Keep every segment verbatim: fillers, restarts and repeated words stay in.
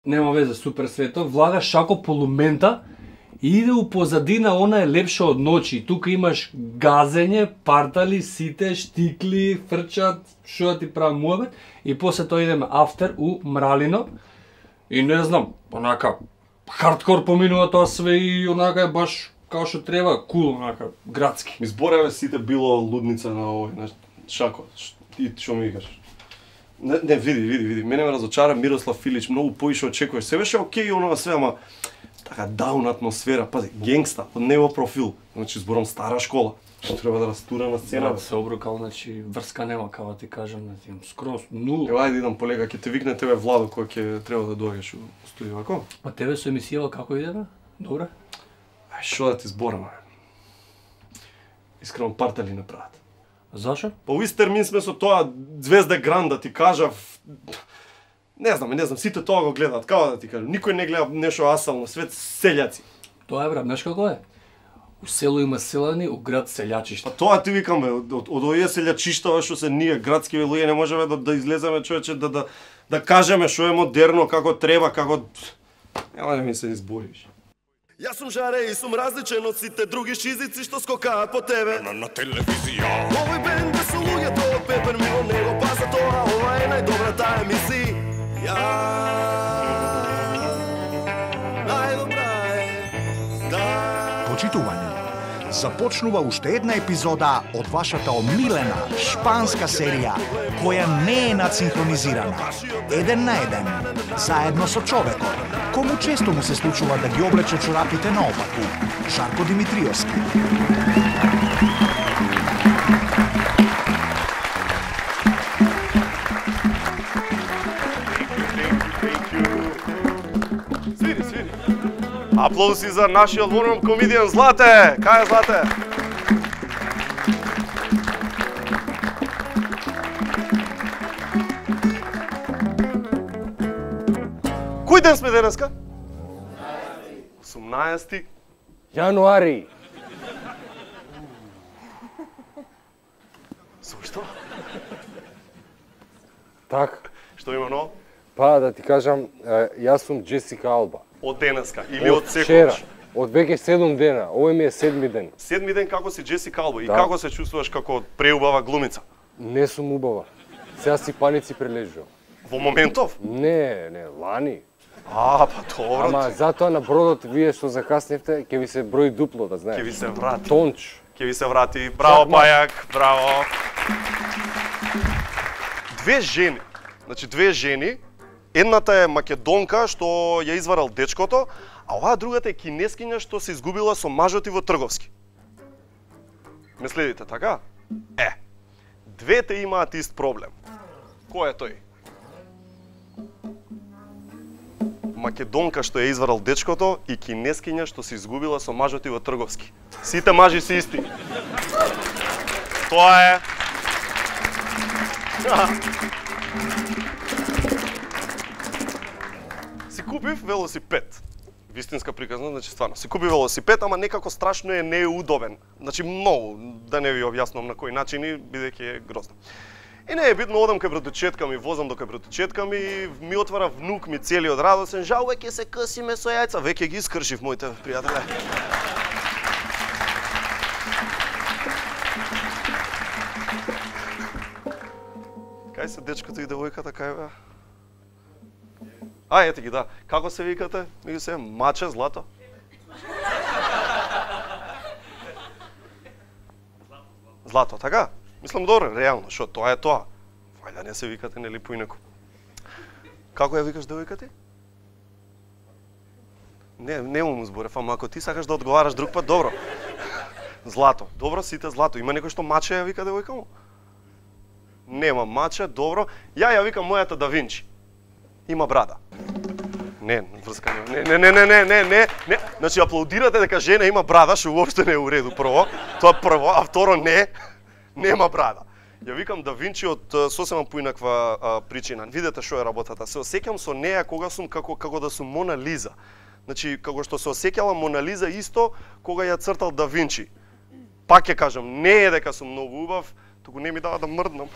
нема везе, супер свето, влага шако полумента и иде у позадина, она е лепша од ночи. Тука имаш газење, партали, сите, штикли, фрчат, шо да ти прави муабет, и после тоа идеме афтер у Мралино. И не знам, онака, хардкор поминува тоа све и онака е баш као што треба, кул, онака, градски. Ми збореве сите било лудница на овој, на шако. И што ми викаш? Не, не, види, види, види. Мене ме разочара Мирослав Филич, многу поише очекуваш. Се беше окей онова све, ама така даун атмосфера, пази, генгста, од него профил. Значи зборам стара школа. Што треба да растура на сцена. Да, се обрукал, значи врска нема, као ти кажам, на тим скроз нула. Ева, ајде идам полека, ќе те викне тебе Владо кој ќе треба да доаѓаш у студио, ако? А тебе со емисијава како иде, бе? Добре? Ај, шо да ти зборам, бе? Искрено партали не прават. Зашо? Па у ист термин сме со тоа Звезда Гранд, да ти кажав... Не знам, не знам, сите тоа го гледаат, како да ти кажам. Никој не гледа нешто асално, свет селјаци. Тоа е, брат, знаеш како е? У село има селани, у град селјачишта. Па тоа ти викам, бе, од, од овие селјачишта што се ние градски луѓе не можеме да, да излеземе, човече, да, да, да кажеме што е модерно, како треба, како... Нема да ми се избориш. Јас сум жаре и сум различен од сите други шизици што скокаат по тебе На, на телевизија. Овој бенд е со луѓето од Пепер мимо него, па за тоа ова е најдобрата емисија. Најдобра е, да... Почитувани, започнува уште една епизода од вашата омилена шпанска серија, која не е надсинхронизирана. Еден на еден, заедно со човекот, кому често му се случува да ги облече чорапите наопаку, Шарко Димитриевски. Свири, свири. Аплауси за нашиот ворум комедијан Злате. Кај е Злате? Кој ден сме денеска? осумнаесети Јануари. Зошто? Така. Што има ново? Па да ти кажам, е, јас сум Джесика Алба. Од денеска или од вчера, секогаш? од веќе седум дена. Овој ми е седми ден. Седми ден како си Джесика Алба и Да. како се чувствуваш како преубава глумица? Не сум убава. Сега си паници прележувам. Во моментов? Не, не, лани. А, па добро. Ама затоа на бродот вие што закасневте, ќе ви се брои дупло, да знаеш. Ќе ви се врати. Тонч. Ќе ви се врати. Браво, Чакма. Пајак, браво. Две жени, значи две жени, едната е македонка што ја изварал дечкото, а оваа другата е кинескиња што се изгубила со мажот и во Трговски. Ме следите, така? Е, двете имаат ист проблем. Кој е тој? Македонка што ја изварал дечкото и кинескиња што се изгубила со мажот и во Трговски. Сите мажи се исти. Тоа е. Си купив велосипед. Вистинска приказна, значи стварно. Си купив велосипед, ама некако страшно е неудобен. Значи многу, да не ви објаснувам на кој начин, бидејќи е грозно. И не е битно, одам кај братучетка ми, возам до кај братучетка ми, и ми отвара внук ми целиот радосен, жал веќе се късиме со јајца, веќе ги искршив моите пријатели. Кај се дечкото и девојката, кај бе? А, ете ги, да. Како се викате? Ми ги се Маче, Злато? Злато, така? Мислам добро, реално, шо тоа е тоа. Вајда не се викате нели поинаку. Како ја викаш девојка ти? Не, не му зборев, ама ако ти сакаш да одговараш друг пат, добро. Злато. Добро, сите Злато. Има некој што Маче ја вика девојка му? Нема Маче, добро. Ја ја викам мојата Да Винчи. Има брада. Не, врска не, не, не, не, не, не, не, не. Значи аплаудирате дека жена има брада, што уопште не е у реду, прво. Тоа прво, а второ не, нема брада. Ја викам Да Винчи од сосема поинаква а, причина. Видете што е работата. Се осеќам со неа кога сум како како да сум Мона Лиза. Значи како што се осеќала Мона Лиза исто кога ја цртал Да Винчи. Пак ќе кажам, не е дека сум многу убав, туку не ми дава да мрднам.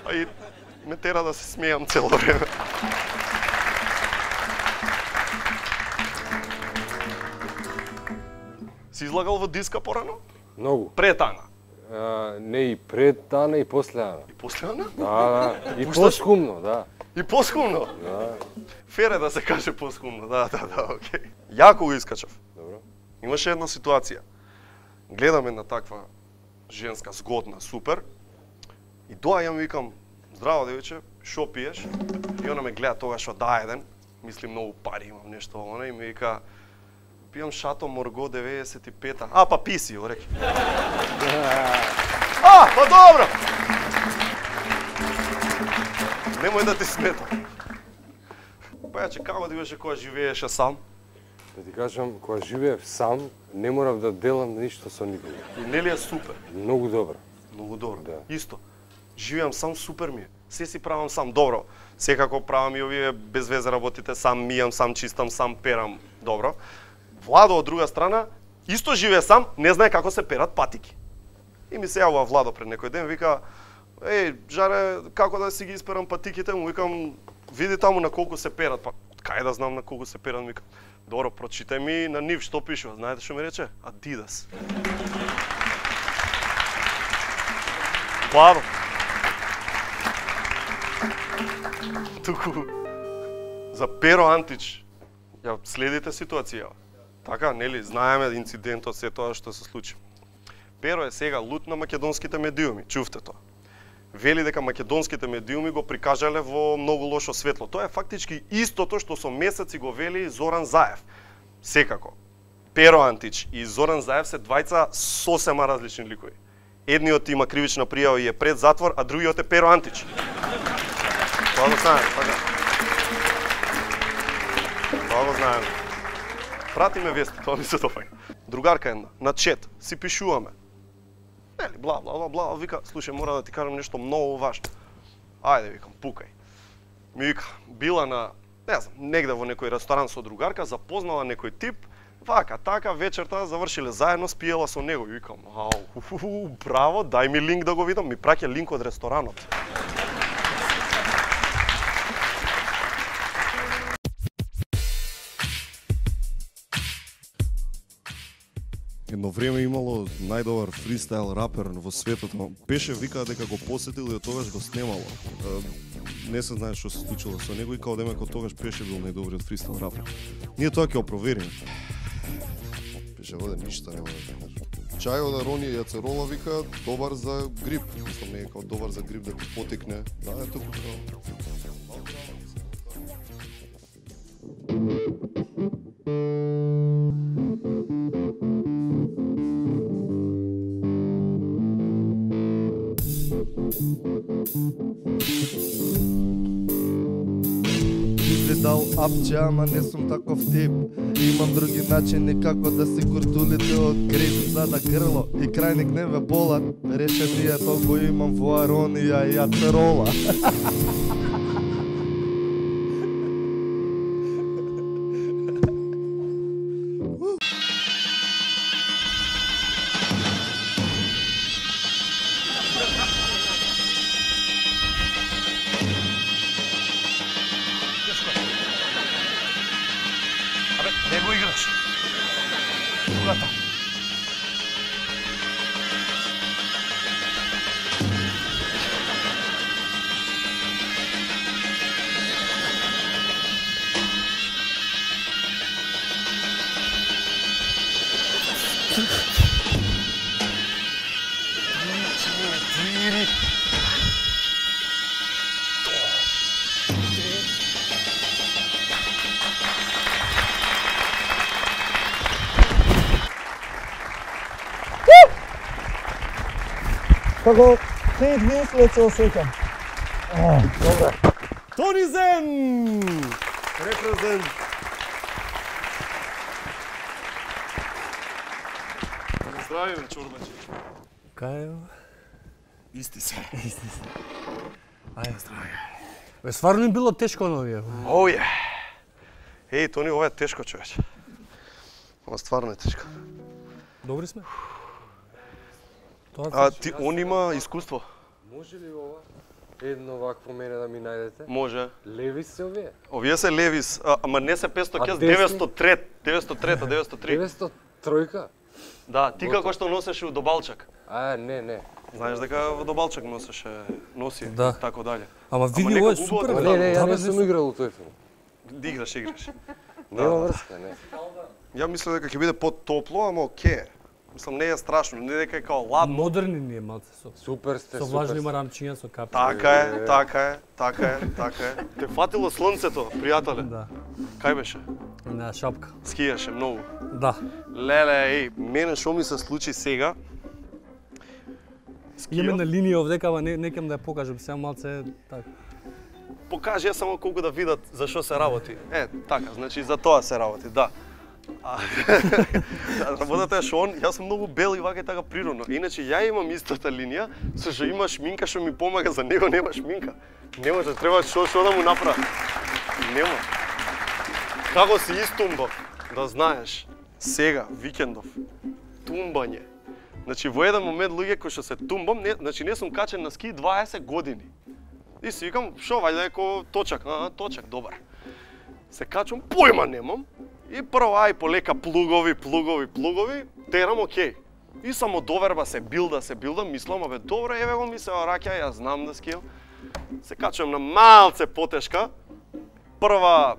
А и ме тера да се смејам цело време. Си излагал во диска порано? Многу. Пред Ана? А, не и пред Ана и после Ана. И после Ана? Да, да. И Пушташ? поскумно, да. И поскумно? Да. Фер е да се каже поскумно, да, да, да, окей. Јако го искачав. Добро. Имаше една ситуација. Гледам една таква женска, згодна, супер. И доаѓам, викам, здраво девиче, шо пиеш? И она ме гледа тогаш од да еден, мисли многу пари имам, нешто она, и ми вика, пијам Шато Морго деветдесет и пета. А, па писи, го реки. А, па добро! Немој да ти смета. Па јаче, како ти беше кога живееше сам? Да ти кажам, кога живеев сам, не морав да делам ништо со никој. И нели е супер? Многу добро. Многу добро. Да. Исто. Живеам сам, супер ми е. Се си правам сам, добро. Секако правам и овие без везе работите сам, мијам сам, чистам сам, перам, добро. Владо од друга страна исто живее сам, не знае како се перат патики. И ми се јавува Владо пред некој ден, вика: "Еј, жаре, како да си ги исперам патиките?" Му викам: "Види таму на колку се перат." Па, кај да знам на колку се перат, викам. "Добро, прочитај ми на нив што пишува." Знаете што ми рече? Адидас. Владо. Туку за Pero Antić, ја следите ситуација. Така, нели, знаеме инцидентот, се тоа што се случи. Pero е сега лут на македонските медиуми, чувте тоа. Вели дека македонските медиуми го прикажале во многу лошо светло. Тоа е фактички истото што со месеци го вели Зоран Заев. Секако, Pero Antić и Зоран Заев се двајца сосема различни ликови. Едниот има кривична пријава и е пред затвор, а другиот е Pero Antić. Тоа го знаеме, така. Тоа го знаеме. Прати ме вести, тоа ми се допаѓа. Другарка една, на чет, си пишуваме. Нели, бла, бла, бла, бла, вика, слушај, мора да ти кажам нешто многу важно. Ајде, викам, пукај. Ми вика, била на, не знам, негде во некој ресторан со другарка, запознала некој тип, вака, така, вечерта завршиле заедно, спиела со него. И викам, ау, уху, браво, дај ми линк да го видам, ми праќа линк од ресторанот. Едно време имало најдобар фристайл рапер во светот, но беше вика дека го посетил и од тогаш го снемало. Не се знае што се случило со него и као демек од тогаш беше бил најдобриот фристайл рапер. Ние тоа ќе опровериме. Беше воде ништо нема да те кажам. Чајот да рони јацерола вика добар за грип. Мислам не е као добар за грип да ти потекне. Да, е туку као. Дал апче, ама не сум таков тип. Имам други начини како да си куртулите од грип. За да грло и крајник не ве болат, решение толку имам во аронија и ацерола. Не го играш. Другата. Како пет мислец се осеќам. Тони Зен! Репрезент! Здрави, бе, чорбачи. Кај е? Исти се. Исти се. Ајде, здрави. Бе, стварно им било тешко на овие. Оје! Еј, Тони, ова е тешко, човече. Ова стварно е тешко. Добри сме. Тоа А ти, он има искуство? Може ли ова? Едно вакво мене да ми најдете? Може. Левис се овие? Овие се Левис, а, ама не се петстотини, А кес, десни? деветстотини и трета, деветстотини и трета, деветстотини и три. деветстотини и тројка? Да, ти како што носеше у Добалчак. А, не, не. Знаеш дека во Добалчак носеше, носи, Да. тако дале. Ама види нека ова е убаво супер. да Ама бе. не, не, ја Да, не бе, сум играл у тој филм. Да играш, играш. Нема врска, не. Ја мислам дека ќе биде потопло, ама оке. Мислам не е страшно, не дека е као ладно. Модерни ни е малце со. Супер сте, Со супер влажни сте. марамчиња со капки. Така е, така е, така е, така е. Те фатило слонцето, пријателе. Да. Кај беше? На шапка. Скијаше многу. Да. Леле, еј, мене што ми се случи сега? Имаме на Скијав, линија овдека, ама не, не кем да ја покажам, сега малце така. покажи ја само колку да видат за што се работи. Е, така, значи за тоа се работи, да. А, работата е што он, јас сум многу бел и вака и така природно. Иначе ја имам истата линија, со што има шминка што ми помага, за него нема шминка. Не може, треба што што да му направи. Нема. Како си истумбав, да знаеш, сега, викендов, тумбање. Значи во еден момент луѓе кои што се тумбам, не, значи не сум качен на ски дваесет години. И си викам, шо вајде еко точак, а, точак, добар. Се качувам, појма немам. И прво ај полека плугови, плугови, плугови, терам окей. И само доверба се билда, се билда, мислам, абе добро, еве го ми се раќа, јас знам да скијам. Се качувам на малце потешка. Прва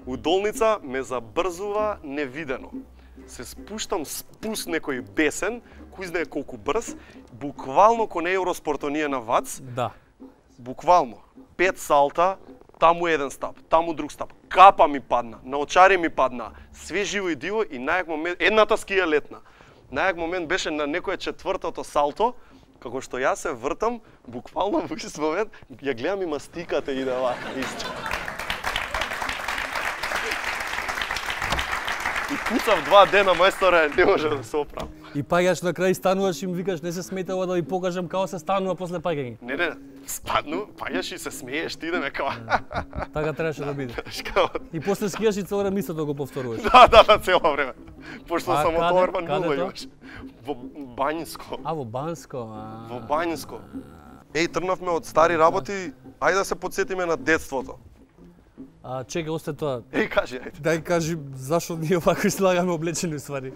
удолница ме забрзува невидено. Се спуштам спуст некој бесен, кој знае колку брз, буквално ко не Евроспортонија на ВАЦ, Да. буквално пет салта, таму еден стап, таму друг стап. Капа ми падна, на очари ми падна, све живо и диво и најак момент, едната скија летна. Најак момент беше на некое четвртото салто, како што јас се вртам, буквално во ист момент, ја гледам и мастиката иде вака, исто. И куцав два дена, мајсторе, не може да се оправам. И паѓаш на крај, стануваш и им викаш не се сметава да ви покажам како се станува после паѓање. Не, не, спадну, паѓаш и се смееш, ти идеме као. Така требаше да биде. Као, И после скијаш и цело време истото да го повторуваш. да, да, да, цело време. Пошто А само каде? товарман Каде нула тоа? имаш. Во Бањско. А во Банско, а. Во Бањско. Еј, тргнавме од стари работи, ајде да се подсетиме на детството. А чекај, осте тоа. Еј, кажи, ајде. Дај кажи зашо ние вако излагаме облечени ствари.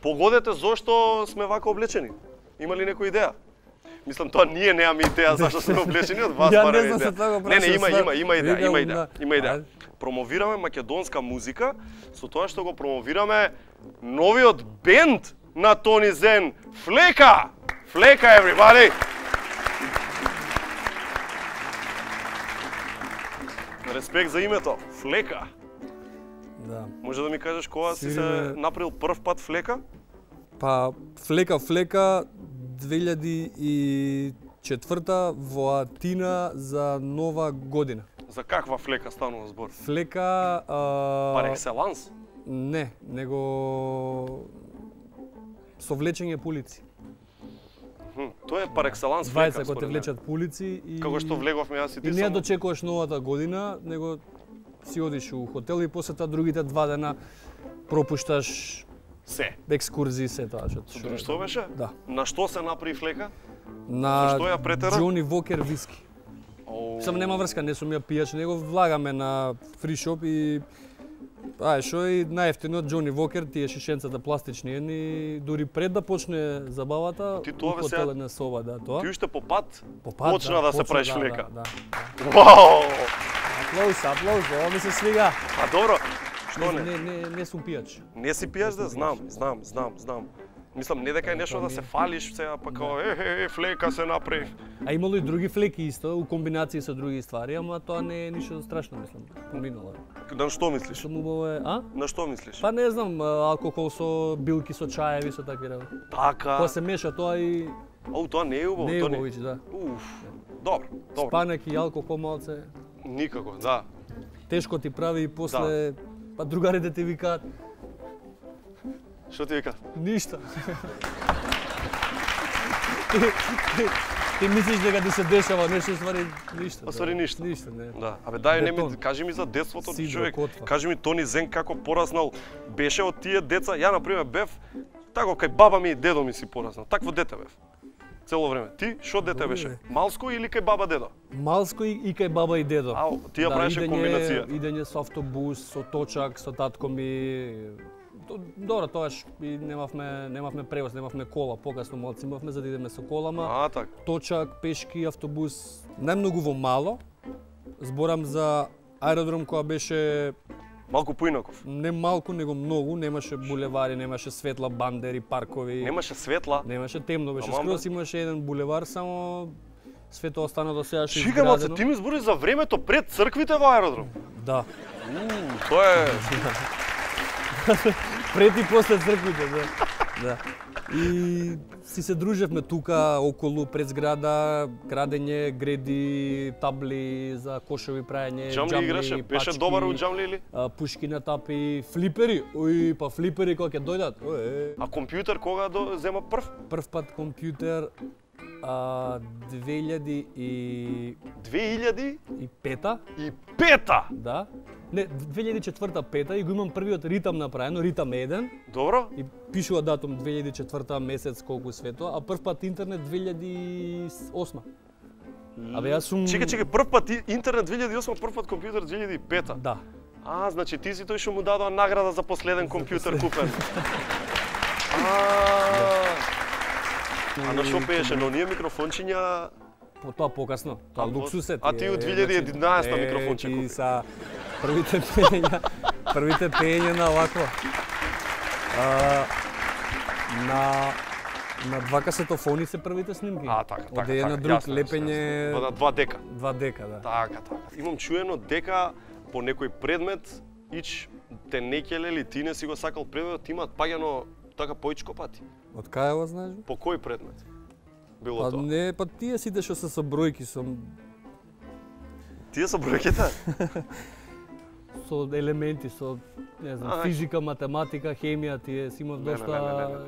Погодете зошто сме вака облечени. Има ли некоја идеја? Мислам, тоа ние немаме идеја зашто сме облечени, од вас Ја барем не знам идеја. се тоа го Не, не, има, прашам, има, има идеја, викам има идеја, на- има идеја. Ајде. Промовираме македонска музика со тоа што го промовираме новиот бенд на Тони Зен, Флека! Флека, everybody! Респект за името, Флека. Да. Може да ми кажеш кога си се Свириме- направил прв пат флека? Па флека флека две илјади и четврта во Атина за нова година. За каква флека станува збор? Флека а... Пар екселанс? Не, него со влечење по улици. Хм, тоа е пар екселанс флека. Двајца кои те според мене. влечат по улици и Како што влеговме јас и ти И не ја само. дочекуваш новата година, него си одиш у хотел и после тоа другите два дена пропушташ Се. екскурзии се тоа што. Со друштво беше? Да. На што се направи флека? На Зашто ја претера? Джони Вокер виски. Оу. Сам нема врска, не сум ја пијач, него влагаме на фри шоп и ај што и најефтино Джони Вокер, тие шишенцата пластични едни, дури пред да почне забавата, Ти тоа у бе хотел сега- една соба, да, тоа. Ти уште по пат По пат, почна да, се почна, правиш да, флека. Да, да. Вау! Аплауз, аплауз, ова ми се свига. А добро, што Не, не? не, не, не сум пијач. Не си пијаш да знам, знам, знам, знам. Мислам, не дека е нешто да се фалиш сега, па као, е, е, е, флека се направи. А имало и други флеки исто, у комбинации со други ствари, ама тоа не е ништо страшно, мислам. Поминало е. На што мислиш? Што убаво е, а? На што мислиш? Па не знам, а, алкохол со билки, со чаеви, со такви работи. Така. Па се меша тоа и Ау, тоа не е убаво, не е тоа не. убавич, да. Уф. Добро, добро. Спанек и алкохол малце, Никако, да. тешко ти прави и после, па другарите ти викаат, Што ти вика? ништо. ти, ти, ти мислиш дека ти се дешава нешто, ствари ништо. А ствари ништо. Ништо, не. Да. Абе дај не ми Бетон. кажи ми за детството, Сидро, човек. котва. Кажи ми Тони Зен како пораснал беше од тие деца. Ја на пример бев тако кај баба ми и дедо ми си пораснал. Такво дете бев. Цело време. Ти што дете Добре, беше? бе. Малско или кај баба дедо? Малско и, и кај баба и дедо. Ау, ти ја правеше идење- комбинација. Идење со автобус, со точак, со татко ми, то- добро, тоаш и немавме немавме превоз, немавме кола, покасно малци имавме за да идеме со колама. А, така. Точак, пешки, автобус, најмногу во мало. Зборам за аеродром која беше Малку поинаков. не малку, него многу, немаше булевари, немаше светла, бандери, паркови. Немаше светла. Немаше темно, беше Ама, скроз имаше еден булевар, само свето остана до сега што Чика, маце, изградено. ти ми збори за времето пред црквите во аеродром. Да. Уу, тоа е... Пред и после црквите, да. Да. И си се дружевме тука околу пред зграда, крадење, греди, табли за кошови прајање, Джамли играше, беше пачки, добар у джамли или? а, пушки на тапи, флипери. Ој, па флипери кога ќе дојдат. Ој, А компјутер кога до зема прв? прв пат компјутер а, две илјади и две илјади и пета, и пета. да. Не, две илјади и четврта пета и го имам првиот ритам направено, ритам еден. Добро? И пишува датум две илјади и четврта месец колку свето, а прв пат интернет две илјади и осма. Абе јас сум Чекај, чекај, прв пат и- интернет две илјади и осма, прв пат компјутер две илјади и пета. Да. А, значи ти си тој што му дадоа награда за последен компјутер купен. А, А на шо пееше, но ние микрофончиња... По тоа покасно. Тоа А, луксус е. а ти у две илјади и единаесета микрофонче купи. купи. И са првите пења, првите пења на вакво. А, на на два касетофони се првите снимки. А, така, така, Од еден на така, друг јасно, јасно, лепење јасно. На два дека. два дека, да. Така, така. Имам чуено дека по некој предмет ич те не ќеле или ти не си го сакал предметот, имаат паѓано така поичко пати. Од кај го знаеш? По кој предмет? Било Па тоа. не, па тие сите што се со бројки, со Тие со бројките? со елементи, со не знам, Аха. физика, математика, хемија, тие си имав Не, не, доста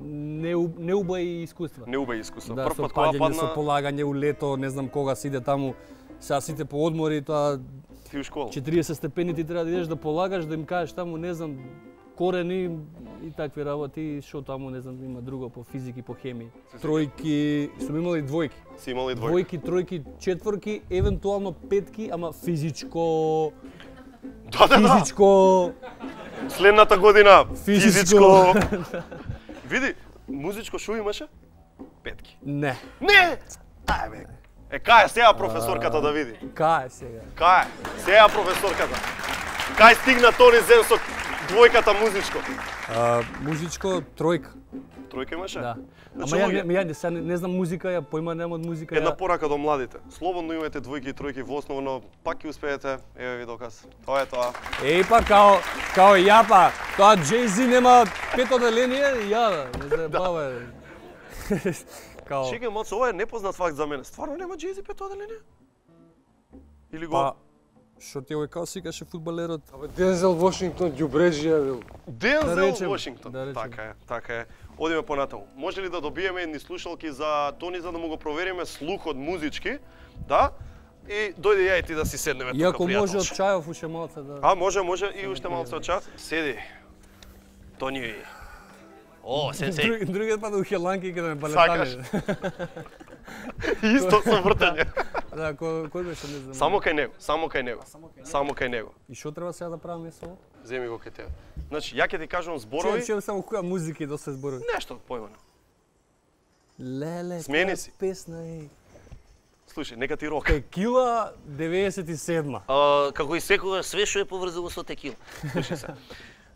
неу- неубави искуства. Не убави искуство. Да, Прв со пат кога паѓање, со падна полагање у лето, не знам кога си иде таму, сега сите по одмори, тоа ти у школа. четириесет степени ти треба да идеш да полагаш, да им кажеш таму, не знам, корени и такви работи, што таму, не знам, има друго по физики, по хемија. Тројки, сум имал и двојки. Си имал и двојка. Двојки, тројки, четворки, евентуално петки, ама физичко, Да, да, да. физичко, Следната година Физичко. физичко. Види, музичко шо имаше? Петки. не. Не! Ај бе. Е, кај е сега професорката да види? Кај е сега? Кај е? Сега професорката. Кај стигна Тони Зен со двојката музичко? А, музичко, тројка. Тројка имаше? Да. Значи, Ама ја, луѓе, не, ја не, сега не, не знам музика, ја појма немам од музика. една ја... порака до младите. Слободно имате двојки и тројки во основно, пак ќе успеете. Еве ви доказ. Тоа е тоа. Еј па као, као ја па, тоа Jay-Z нема пет оделение, ја, не заебава. Као, Чекај, моцо, ова е непознат факт за мене. Стварно нема Jay-Z пет оделение? Или го... па, што ти овој као сикаше фудбалерот? Абе, Дензел Вашингтон, ѓубреджија бил. Дензел Да речем, Вашингтон. да речем. Така е, така е. Одиме понатаму. Може ли да добиеме едни слушалки за Тони за да му го провериме слухот музички? Да? И дојде ја и ти да си седнеме тука, Иако може од пријателче. чајов уште малце да... А, може, може и уште малце од ча. Седи. Тони. О, сенсеј. Друг, другиот пат у Хеланки каде ме Сакаш? балетане. Исто со вртење. Да, кој, кој беше, не знам. Само кај него, само кај него. Само кај него. И што треба сега да правиме со? Земи го кај тебе. Значи, ја ќе ти кажам Чуjem, зборови. чуjem само која музика и доста зборови. Нешто појмано. Леле, Смени која си. песна е. Слушај, нека ти рока. Текила деветдесет и седма. А, како и секогаш, све што е поврзано со текила. Слушај се.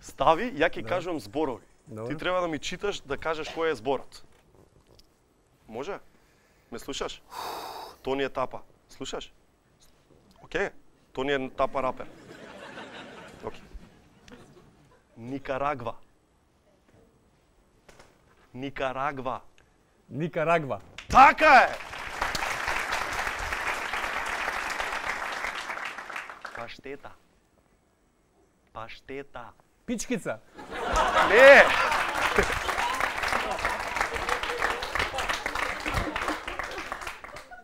Стави, ја ќе кажувам зборови. Добро. Ти треба да ми читаш да кажеш кој е зборот. Може? Ме слушаш? Тони е тапа. Слушаш? Океј. Тони е тапа рапер. Океј. Никарагва. Никарагва. Никарагва. Така е! Паштета. Паштета. Пичкица. Не!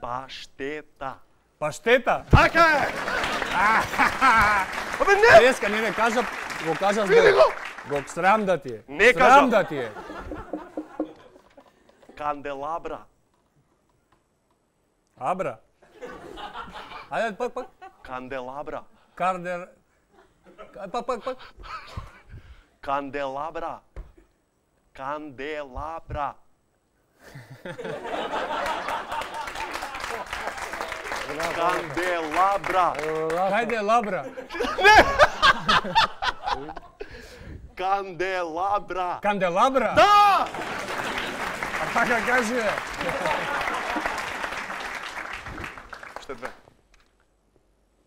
Паштета. Паштета. Така е! Абе не! Деска, не, не, кажа, го кажа Види збор. го! Го срам да ти е. Не Срам кажа. да ти е. Канделабра. Абра. Ајде, пак, пак. Канделабра. Кардер. Пак, пак, пак. Канделабра. Канделабра. Канделабра. Кајде лабра? Канделабра. Канделабра? Да! А така кажи. Уште две.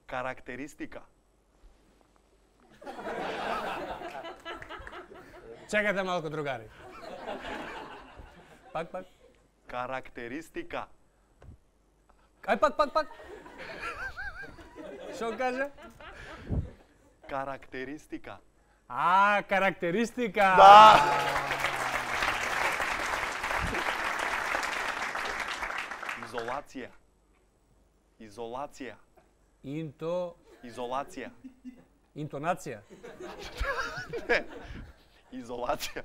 Карактеристика. Чекате малку, другари. Пак, пак. Карактеристика. Ај, пак, пак, пак. Шо каже? Карактеристика. А, карактеристика. Да! Изолација. Изолација. Инто... Изолација. Интонација. Не. Изолација.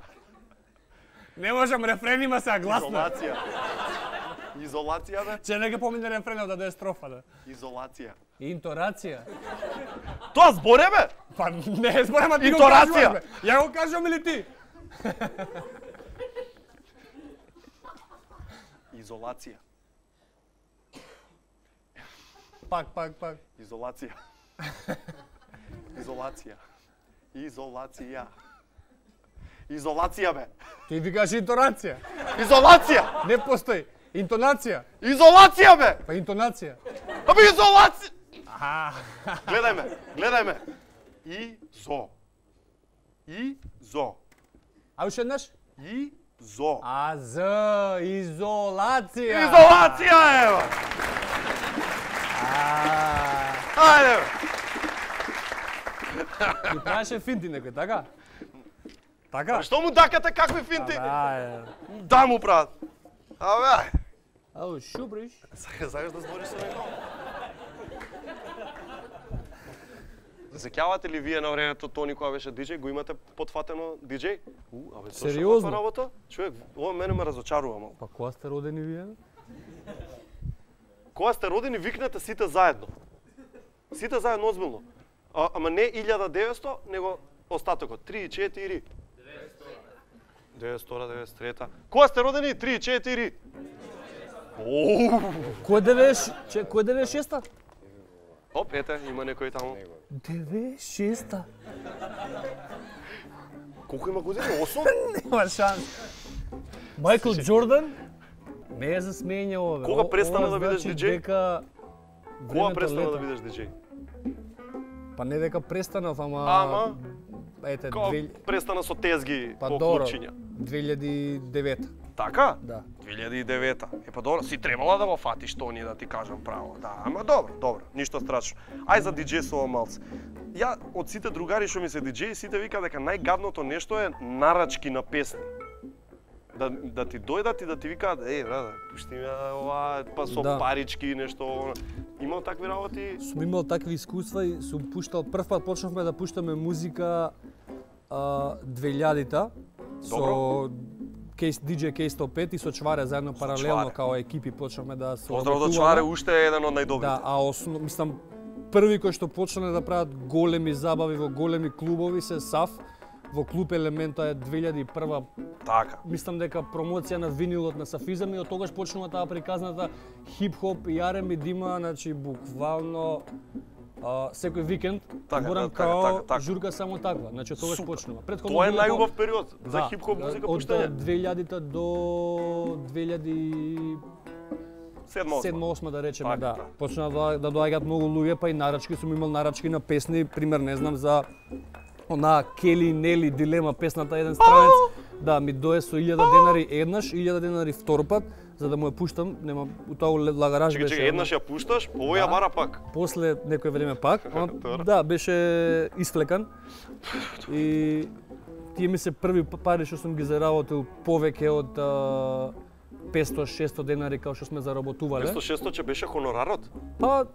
Не можам рефренима се гласно. Изолација. Изолација, бе? Че нека помине рефренот да дое строфа, да. Изолација. Инторација. Тоа зборе, бе? Па не е зборе, ма ти го Инторација. кажуваш, бе. Ја го кажувам или ти? Изолација. Пак, пак, пак. Изолација. Изолација. Изолација. Изолација, бе. Ти викаш инторација. Изолација. Не постои. Интонација. Изолација, бе. Па интонација. Абе изолација. Аха. Гледај ме, гледај ме. Изо. Изо. А уште еднаш? Изо. А з изолација. Изолација, ева. Ајде, бе. Ти правеше финти некој, така? Така? Што му дакате какви финти? Да, Да му прават. Абе, ајде. Ау, шубриш. Сакаш да збориш со некој? Сеќавате ли вие на времето Тони кога беше диџеј, го имате потфатено диџеј? У, абе, зошто Сериозно? таква работа? Човек, ова мене ме разочарува малку. Па кога сте родени вие? Кога сте родени, викнете сите заедно. Сите заедно озбилно. А, ама не илјада и деветсто, него остатокот. три, четири. деветстора, деветдесет и трета. Кога сте родени? три, четири. Оу! Кој деведесет, че, кој деведесет и шеста? Оп, ете, има некој таму. деведесет и шеста. Колку има години? осум? Нема шанс. Майкл Џордан не е за смење ова. Кога О- престана ова да бидеш значи диџеј? дека Кога времето престана лета. да бидеш диџеј? Па не дека престанав, ама... Ама? Ете, Кога две... престана со тезги па по добро, клучиња? две илјади и девета. Така? Да. две илјади и девета. Е па добро, си требала да го фатиш Тони, да ти кажам право. Да, ама добро, добро, ништо страшно. Ај за диџејсово малце. Ја од сите другари што ми се диџеи, сите вика дека најгадното нешто е нарачки на песни. Да, да ти дојдат и да ти викаат, е, брада, пушти ми ова, па со Да. парички нешто. Имал такви работи? Сум имал такви искуства и сум пуштал, прв пат почнавме да пуштаме музика а, две илјадите со Кейс, диџеј Кей сто пет и со Чваре заедно паралелно Чваре. као екипи почнавме да се Поздрав до работуваме. Чваре, уште е еден од најдобрите. Да, а основ, мислам, први кој што почнале да прават големи забави во големи клубови се САФ, во клуб Елемента е две илјади и прва. Така. Мислам дека промоција на винилот на Сафизам и од тогаш почнува таа приказната хип-хоп и Ар Ен Би дима, значи буквално а, секој викенд Така, морам да, така, као така, така. журка само таква. Значи од тогаш Супер. почнува. Претходно Тоа е било најубав период за Да, хип-хоп музика од пуштање. две илјадите до две илјади Седма, седма осма да речеме, Така, да. така. Почна да, да доаѓаат многу луѓе, па и нарачки, сум имал нарачки на песни, пример не знам за она Кели Нели дилема песната еден странец. Да, ми дое со илјада денари еднаш, илјада денари втор пат, за да му ја пуштам, нема у тоа лагараж Чекај, беше. чекај, еднаш ја пушташ, овој ја Да. бара пак. После некој време пак, ама, Добро. да, беше исфлекан. И тие ми се први пари што сум ги заработил повеќе од а, петсто шесто денари као што сме заработувале. петсто шесто че беше хонорарот? Па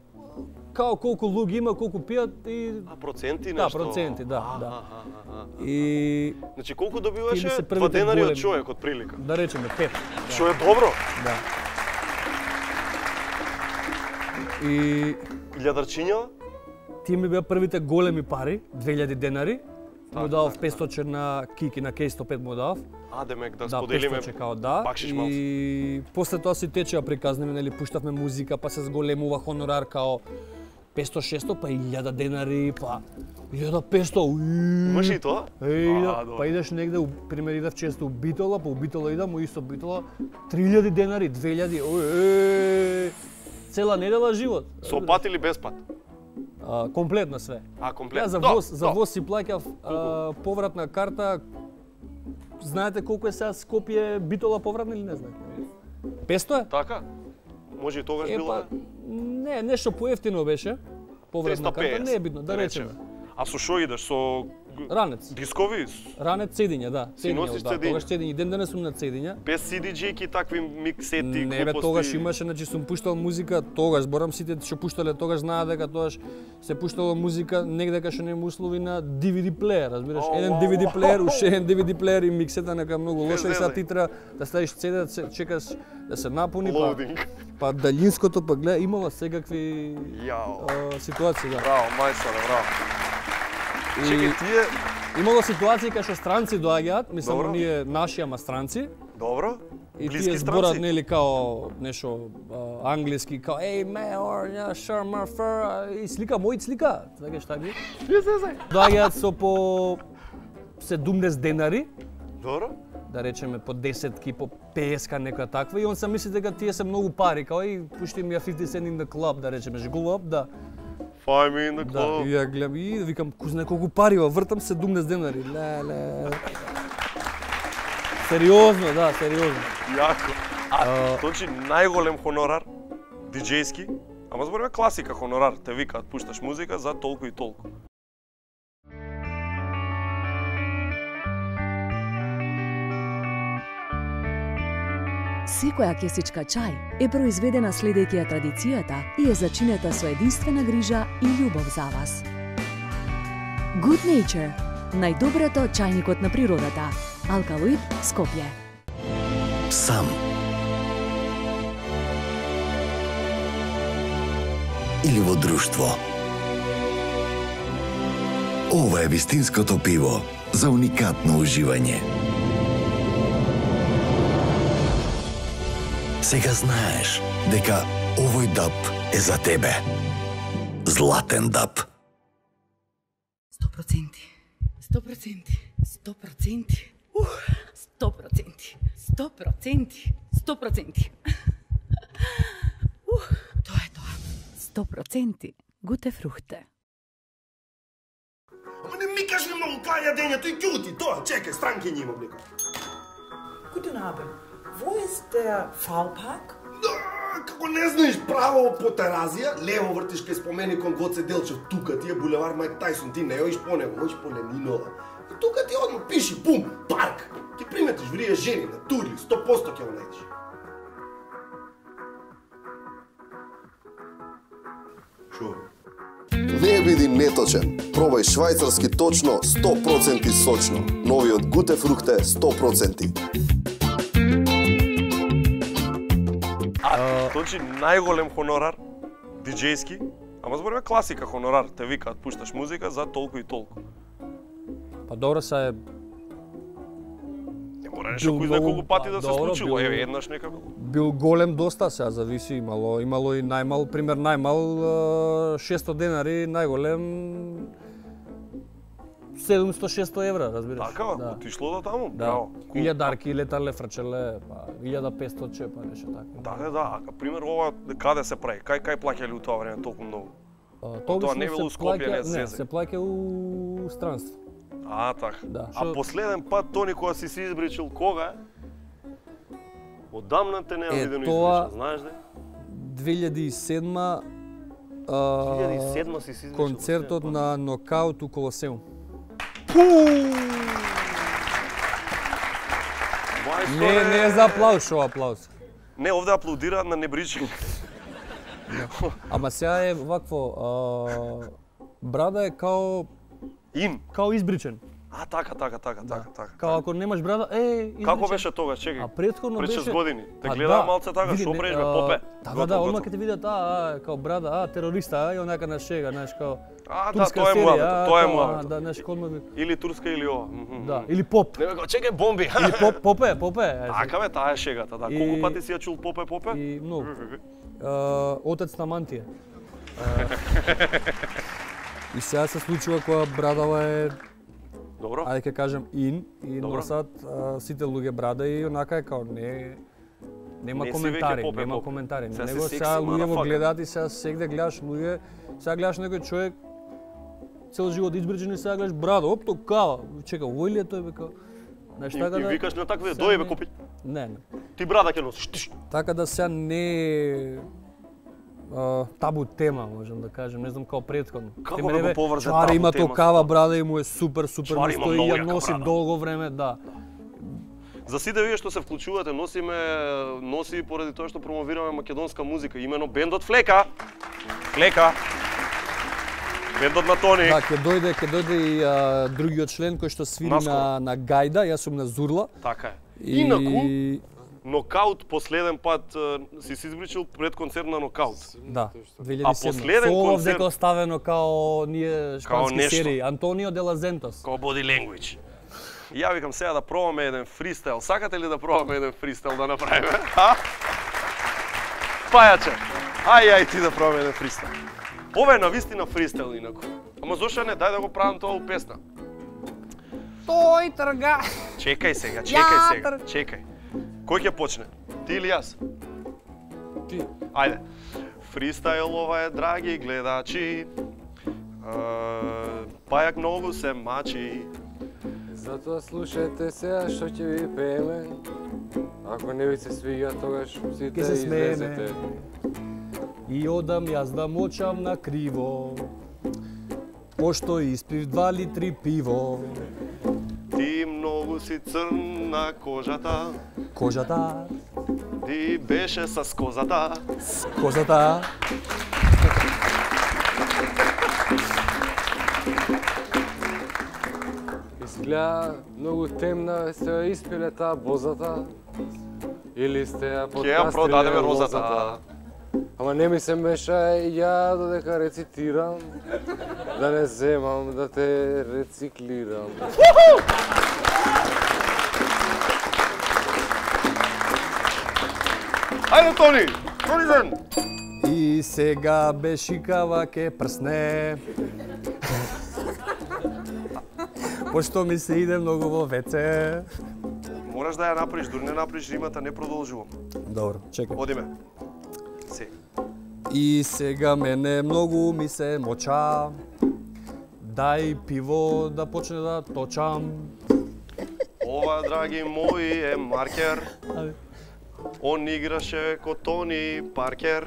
као колку луѓе има, колку пијат и А проценти да, нешто? проценти, да, А, да. а, а, а. И Значи колку Тие ми добиваше? се Два првите денари од големи. човек, од прилика. да речеме пет. Што е добро? Да. И Илјадарчиња? тие ми беа првите големи пари, две илјади денари. му дав петстотин на Кики на Кеј сто пет му дав. А, демек да Да, споделиме петстотин као да. бакшиш малку. И после тоа си течеа приказнеме, нели пуштавме музика, па се зголемува хонорар као петсто шесто, па илјада денари, па илјада петсто. Имаш и тоа? Еј, А, да, добро. па идеш негде, у- пример идав често у Битола, па у Битола идам, у исто Битола, три илјади денари, две илјади, ој, цела недела живот. Со пат или без пат? А, комплетно све. А, комплетно. Ја за Да, воз, за да. воз си плаќав а, повратна карта. Знаете колку е сега Скопје Битола повратна или не знаете? петсто е? Така? Може и тогаш Е, било? па, не, нешто поевтино беше. Повратна триста карта, педесет, не е битно, да речеме. А со шо идеш? Со Ранец. дискови? Ранец цедиња, да. Си носиш да, цедиња? тогаш цедиња, ден денес сум на цедиња. Без си ди џејки, такви миксети, Не бе, глупости? тогаш имаше, значи сум пуштал музика, тогаш, зборам сите што пуштале, тогаш знаат дека тогаш се пуштала музика негде кај што нема услови на ди ви ди плеер, разбираш? О, Еден вау, ди ви ди вау. плеер, уште еден ди ви ди плеер и миксета нека многу Без лошо и сега зезање. ти треба да ставиш цеде, да се чекаш да се напуни, па, Лоудинг. па далинското, па гледа, имала секакви Јао. а, ситуации, да. Браво, мајсторе, браво. И Чекај, тие... имало ситуации кај што странци доаѓаат, мислам Добро. оние наши, ама странци, Добро. и Блиски тие зборат странци? нели као нешто а, англиски, као ей меор, ја шармар фер, и слика мој слика, така што ги. Доаѓаат со по седумдесет денари, Добро. да речеме по десетки, по петдесет нека таква, и он се мисли дека тие се многу пари, као и пушти ми ја фифти cent in the club, да речеме, жгулап, да. Find me in the Да, club. и ја гледам и викам, ку знае колку пари, ва, вртам седумдесет денари. Леле. Сериозно, да, сериозно. Јако. А, точи најголем хонорар, диџејски, ама збориме класика хонорар, те викаат, пушташ музика за толку и толку. Секоја кесичка чај е произведена следејќи ја традицијата и е зачинета со единствена грижа и љубов за вас. Good Nature, најдоброто од чајникот на природата. Алкалоид, Скопје. Сам. Или во друштво. Ова е вистинското пиво за уникатно уживање. Сега знаеш дека овој даб е за тебе. Златен даб. сто проценти, сто проценти, сто проценти, сто проценти, сто проценти, сто проценти. Тоа е тоа. сто проценти гуте фрухте. Ама не ми кажи многу кај јадењето и ќути, тоа, чекај, странки има блика. Guten Abend. Wo ist der V-Park? Како не знаеш право по Теразија, лево вртиш кај споменикон Гоце Делчев, тука ти е булевар Майк Тајсон, ти не оиш по него, оиш по Ленинова. И тука ти одма пиши, пум, парк. Ки приметиш врие жени на турли, сто проценти ќе го најдеш. Шо? Не биди неточен. Пробај швајцарски точно сто проценти сочно. Новиот Гуте фрухте сто проценти. А, точи најголем хонорар, диџејски, ама збориме класика хонорар, те викаат, пушташ музика за толку и толку. Па добро се е Не мора нешто кој знае колку пати да се Добро, случило, бил- еве еднаш некако. бил голем доста, сега зависи, имало имало и најмал, пример најмал а, шесто денари, најголем седумсто шесто евра, разбираш. Така, да. отишло до таму, Да. браво. Илјадарки летале, фрчеле, па илјада петсто чепа, нешто така. Да, да, да, а пример ова каде се прави? Кај кај плаќале у тоа време толку многу? Тоа Тоа обично не било у се Скопје, плаќа- не не, зезе. се плаќа у странство. А, така. Да, А шо- последен пат Тони кога си се избричил кога е? Одамна те нема Е, видено тоа- избричил, знаеш ли? две илјади и седма а, две илјади и седма си се избричил концертот на Нокаут у Колосеум. Не, не е за аплауз, шо аплауз. Не, овде аплаудираат на небричење. Ама сега е вакво, а, брада е као Ин. Као избричен. А, така, така, така, така, така. Као ако немаш брада, е, изрече. Како беше тогаш, чекај? А претходно Пред беше... шест години. Те А, гледаа да. малце така, Види, што не, правиш а, бе, попе. Да, да, да, одма ќе те видат, а, а, као брада, а, терориста, а, и онака на шега, знаеш, као... А, да, турска тоа е серија, муабето, а, тоа е као, муабето. а, Да, знаеш, одма би... Или турска или ова. Да, или поп. Не ме го, чекај бомби. Или поп, попе, попе. Така бе, таа е шегата, да. И- Колку пати си ја чул попе, попе? И многу. А, Отец на мантија. А, И сега се случува кога брадава е Добро. Ајде ќе кажем ин и Добро. носат а, сите луѓе брада и онака е као не нема Не си коментари, веќе попе, нема поп. коментари. Сега си Него секси, сега луѓе го motherfucker. гледаат и сега сегде гледаш луѓе, сега гледаш некој човек цел живот избричен и сега гледаш брада, оп тока. Чека, овој ли е тој бе као? Знаеш И, така и да викаш на такви, сега дој бе не- купи. Не, не. Ти брада ќе носиш. Тиш. Така да сега не е а, табу тема, можам да кажем, не знам како претходно. Како Ке да мене, го бе, поврзе Чуари табу има тема токава со тоа? брада и му е супер, супер Чуари му има стои и многу ја јака носи брада. долго време, да. За сите вие што се вклучувате, носиме носи поради тоа што промовираме македонска музика, имено бендот Флека. Флека. Бендот на Тони. Да, ќе дојде, ќе дојде и а, другиот член кој што свири Наскоро. на на гајда, јас сум на зурла. Така е. И- Инаку, нокаут последен пат е, си се избричил пред концерт на нокаут. Да, две илјади А и седма. последен Со концерт дека оставено као ние шпански нешто. серии, Антонио де ла Зентос. Као body language. И ја викам сега да пробаме еден фристайл. Сакате ли да пробаме еден фристайл да направиме? А? Пајаче, ај ај ти да пробаме еден фристайл. Ова е навистина фристайл инаку. Ама зошто не, дај да го правам тоа у песна. Тој трга. Чекај сега, чекај Ја, сега, чекај. Кој ќе почне? Ти или јас? Ти. Ајде. Фристайл ова е, драги гледачи. Пајак многу се мачи. Затоа слушајте сега што ќе ви пееме. Ако не ви се свиѓа, тогаш сите Ке се смееме. излезете. И одам јас да мочам на криво, пошто испив два литри пиво. Ти многу си црн на кожата. Кожата, Ти беше с козата. козата. Изгледа многу темна, сте ја испиле таа бозата. Или сте ја Ќе ја продадеме подкастиле розата. Ама не ми се меша и ја додека рецитирам, да не земам, да те рециклирам. Ајде, Тони! Тони ден! И сега бешикава ке прсне. Пошто ми се иде многу во веце. Мораш да ја направиш, дури не направиш римата, не продолжувам. Добро, чекај. Одиме. Се. И сега мене многу ми се моча. Дај пиво да почне да точам. Ова, драги мои, е маркер. Абе. Он играше ко Тони Паркер.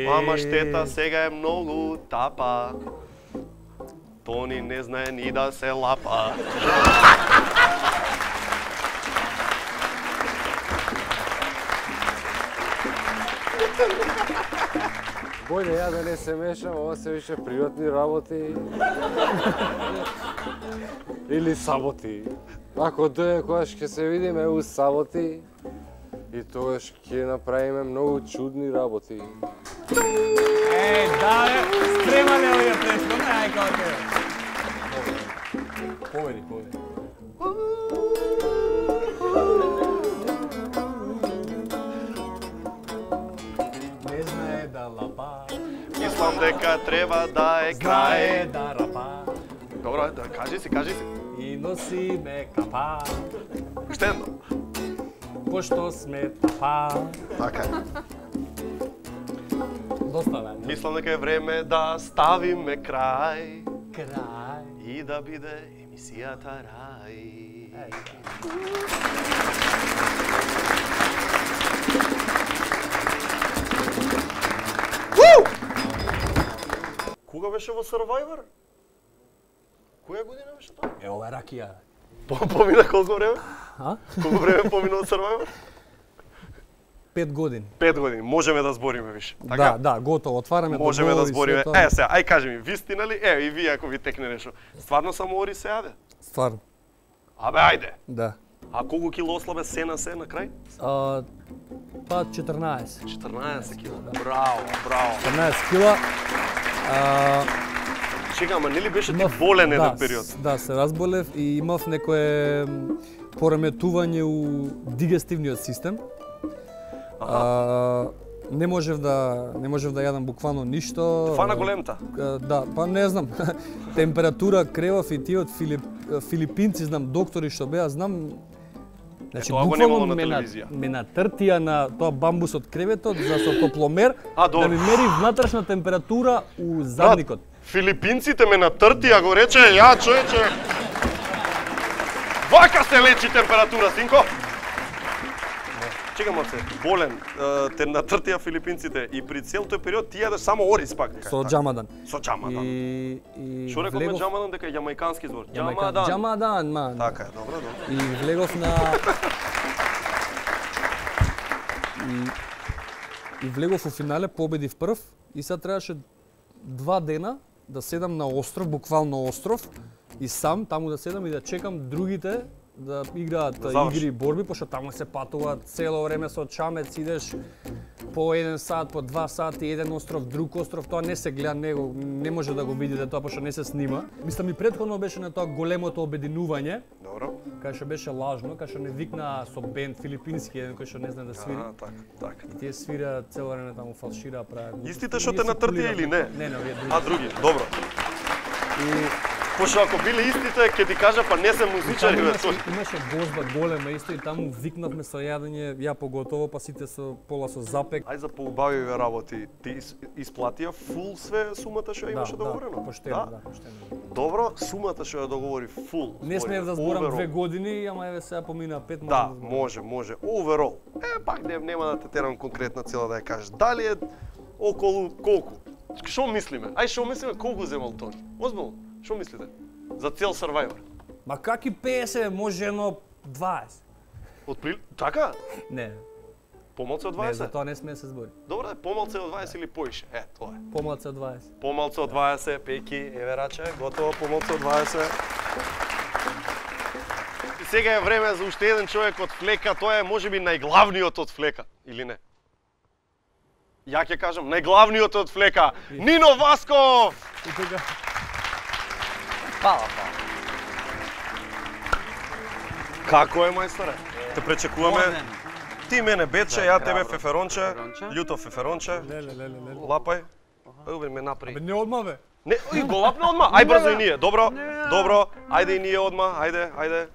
Ама штета сега е многу тапа. Тони не знае ни да се лапа. Бојде ја да не се мешам, ова се више приватни работи. Или саботи. Ако дојде којаш ќе се видиме у саботи, и тогаш ќе направиме многу чудни работи. Е, да, бе, спремале овие претходно, ај како ќе. Поведи, поведи. Не знае да лапа. Мислам дека треба да е Знае крај. да рапа. Добро, да кажи си, кажи си. И носи ме капа. Уште едно. Пошто сме тапа. Така е. Доста бе. Мислам дека е време да ставиме крај. Крај. И да биде емисијата рај. Кога беше во Survivor? Која година беше тоа? Е, ова е ракија. По- Помина колку време? А? Колку време помина од Survivor? пет години. пет години, можеме да збориме више. Така? Да, да, готово, отвараме можеме договори, да збориме. све тоа. Е, сега, ај кажи ми, вистина ли? Е, и вие ако ви текне нешто. Стварно само ори се јаде? Стварно. Абе, ајде. Да. А колку кило ослабе се на се на крај? А, па четрнаесет. четрнаесет кила. Браво, браво. четрнаесет кила. А, Чека, ама нели беше ти болен еден да, период? с- Да, се разболев и имав некое м, пореметување у дигестивниот систем. А, не можев да не можев да јадам буквално ништо. Фана големта? А, Да, па не знам. Температура кревав и тие од Филип, филипинци, знам, доктори што беа, знам. Значи, Тоа го буквално немало на ме на- телевизија. ме натртија на тоа бамбус од креветот за со топломер А, добро. да ми мери внатрешна температура у задникот. Филипинците ме натртија, го рече, ја човече. Вака се лечи температура, синко. Чекам се, болен, е, те натртија филипинците и при цел тој период ти јадеш само ориз пак. Со джамадан. Со джамадан. И и Што рековме влегов- джамадан дека е јамајкански збор? Јамајкан- Джамадан. Джамадан, ман. Така е, добро, добро. И влегов на и, и влегов у финале, победив прв и сега требаше два дена да седам на остров, буквално остров и сам таму да седам и да чекам другите да играат Да заврши. игри и борби, пошто таму се патува цело време со чамец, идеш по еден сат, по два сати, еден остров, друг остров, тоа не се гледа, не, го, не може да го видите тоа, пошто не се снима. Мислам и претходно беше на тоа големото обединување, Добро. кај што беше лажно, кај што не викна со бенд филипински, еден кој што не знае да свири. А, така, така. И тие свира цело време таму фалшира, прават. Истите што те натртија или не? Не, не, овие други. А, други, добро. И Пошто ако биле истите, ќе ти кажа, па не се музичари, бе, имаше, тој. имаше гозба голема исто и таму викнавме со јадење, ја поготово, па сите со пола со запек. Ај за поубавиве работи, ти ис- исплатија фул све сумата што ја имаше да, договорено? Да, поштено, да, поштено. Добро, сумата што ја договори фул. Не смеев да зборам две години, ама еве сега помина пет може Да, зборам. може, може. Overall. Е, пак не, нема да те терам конкретна цела да ја кажеш. Дали е околу колку? Што мислиме? Ај што мислиме колку земал Тони? Озбилно, што мислите? За цел Survivor. Ма каки песет, може едно дваесет. Отприл... Така? Не. Помалце од Не, дваесет? за тоа не смее да се збори. Добро, е, помалце од дваесет или поише? Е, тоа е. Помалце од дваесет. Помалце од дваесет, Пеки, еве раче, готово, помалце од дваесет. И сега е време за уште еден човек од Флека, тоа е можеби најглавниот од Флека, или не? Ја ќе кажам, најглавниот од Флека, Нино Васков! И тука... Фала, фала. Како е, мајсторе? Те пречекуваме. Ти мене бече, ја тебе феферонче, љуто феферонче. Леле, леле, леле. Лапај. Ајде ме направи. Бе, не одма бе. Не, и го лапна одма. Ај брзо и ние. Добро, добро. Ајде и ние одма. Ајде, ајде.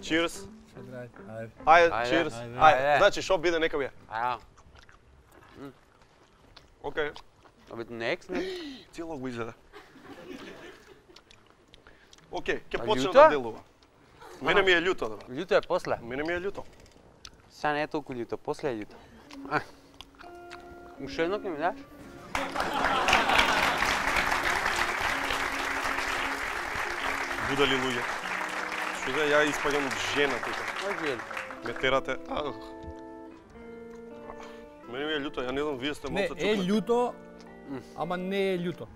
Cheers. Ајде. Ајде, cheers. ајде. Ајде. Значи, шо биде нека бие. Аја. Океј. A bit next, ne? Цело го изеде. Океј, ќе А почне љуто? да делува. Мене ми е љуто, да. Љуто е после. Мене ми е љуто. Сега не е толку љуто, после е љуто. А. Уште едно ќе ми даш? Будали луѓе. Што да ја испаѓам жена тука. Ојде. Ме терате. Ах. Мене ми е љуто, ја не знам, вие сте Не, малце е чукнати. љуто, ама не е љуто.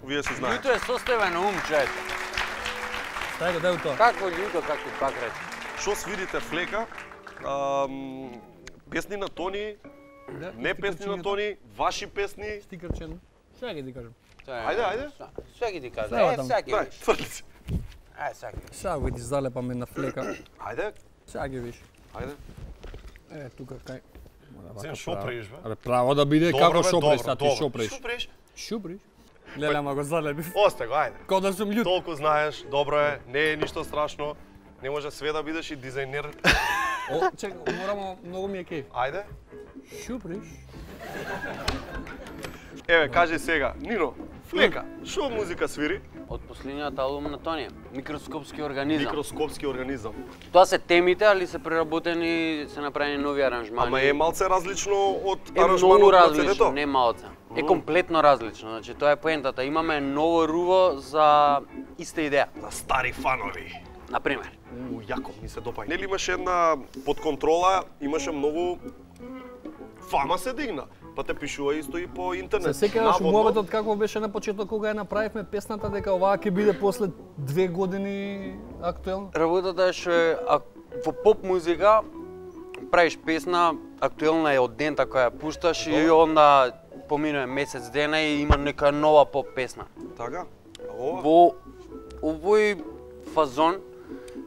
Вие се знаете. Љуто е составено ум, човече. Дај го, дај го тоа. Какво љуто, како пак рече? Што свирите Флека? Ам, песни на Тони, Да, не стикерчињата. песни на Тони, ваши песни. Стикерчено. Сега ќе ти кажам. Ајде, ајде. Сега ќе ти кажа. Слева Е, таму. сега ќе Дај, видиш. тврди се. Ајде, сега ќе видиш. Сега го ти залепаме на Флека. Ајде, Сега ќе видиш. ајде. Е, тука кај. Зем, шо преиш, бе? Абе, право да биде Добро, како бе, шо добро, преш, а ти добро. шо преш. Шо преш? Шо преш? Леле, ама го залепив. Осте го, ајде. Као да сум љут. Толку знаеш, добро е, не е ништо страшно. Не може све да бидеш и дизајнер. О, чекай, морамо, многу ми е кеј. Ајде. Шо преш? Еве, кажи сега, Нино, Флека, шо музика свири? Од последниот албум на Тони, Микроскопски организам. Микроскопски организам. Тоа се темите, али се преработени, се направени нови аранжмани. Ама е малце различно од Е аранжманот многу на различно, седето. не малце. Е комплетно различно, значи тоа е поентата. Имаме ново руво за иста идеја. За стари фанови. Например. У, јако, ми се допаѓа. Нели имаше една под контрола, имаше многу фама се дигна. Па те пишува исто и по интернет. Се сеќаваш муабетот како беше на почеток кога ја направивме песната дека оваа ќе биде после две години актуелна? Работата е што е во поп музика правиш песна, актуелна е од дента која ја пушташ и онда поминува месец дена и има нека нова поп песна. Така? Во овој фазон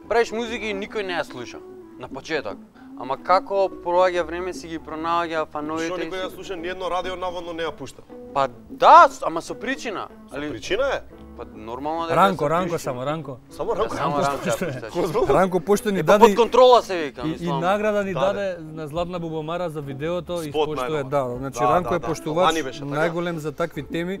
правиш музика и никој не ја слуша на почеток. Ама како проаѓа време си ги пронаоѓа фановите. Што никој ја слуша, ни едно радио наводно не ја пушта. Па да, ама со причина. Со причина е? Па нормално дека Ранко, Ранко само, Ранко. Само Ранко. Само Ранко ја пушташ. Ранко пошто ни Е, даде под контрола се вика, и, и мислам. награда ни Даде. даде на Златна бубамара за видеото и Спот пошто е најнова. да, значи Да, Ранко да, е да. поштувач Лани беше, така? најголем за такви теми.